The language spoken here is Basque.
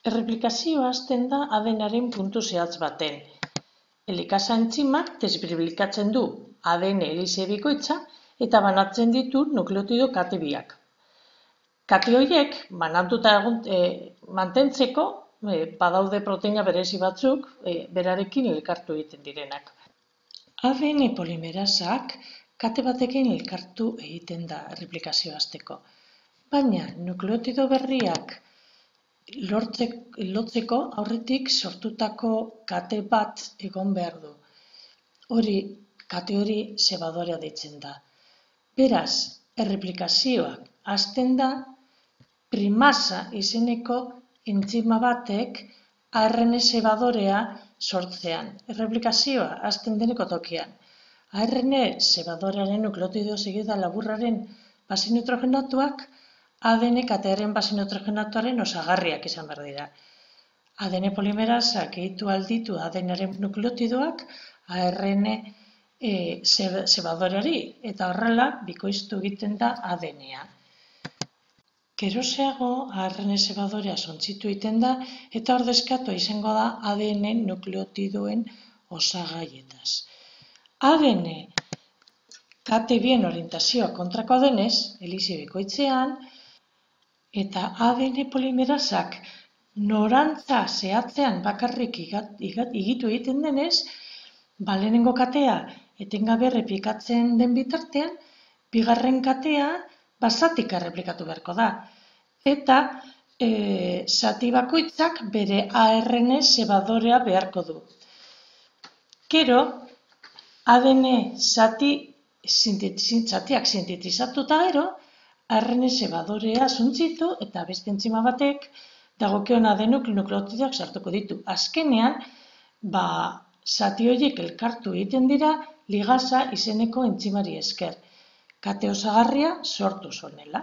Erreplikazioa hasten da ADN-aren puntu zehatz baten. Helikasa entzimak desbirbikatzen du ADN helize bikoitza eta banatzen ditu nukleotido kate biak. Kate horiek banatuta mantentzeko badaude proteina berezi batzuk berarekin elkartu egiten direnak. ADN polimerasak kate batekin elkartu egiten da erreplikazioa hasteko. Baina nukleotido berriak lotzeko aurretik sortutako kate bat egon behar du. Kate hori zebadorea deitzen da. Beraz, erreplikazioak hasten da primasa izeneko entzima batek ARN zebadorea sortzean. Erreplikazioa hasten deneko tokian. ARN zebadorearen nukleotido segida laburraren base nitrogenatuak ADN katearen base nitrogenatuaren osagarriak izan behar dira. ADN polimerasak egitu alditu ADN-aren nukleotidoak ARN zebadoreari eta horrela bikoiztu egiten da ADN-a. Geroxeago ARN zebadorea sontzitu egiten da eta ordezkatu izango da ADN nukleotidoen osagaietaz. ADN kate bien orientazioa kontrakoa denez, helize bikoitzean, eta ADN polimerasak norantza zehatzean bakarrik higitu egiten denez, lehenengo katea etengabe errepikatzen den bitartean, bigarren katea zatika erreplikatu beharko da. Eta zati bakoitzak bere ARN zebadorea beharko du. Gero, ADN zatiak sintetizatuta gero, ARN zebadorea suntzitu eta beste entzima batek dagokion ADN nukleotidoak sartuko ditu. Azkenean, zati horiek elkartu egiten dira ligasa izeneko entzimari esker. Kate osagarria sortu zonela.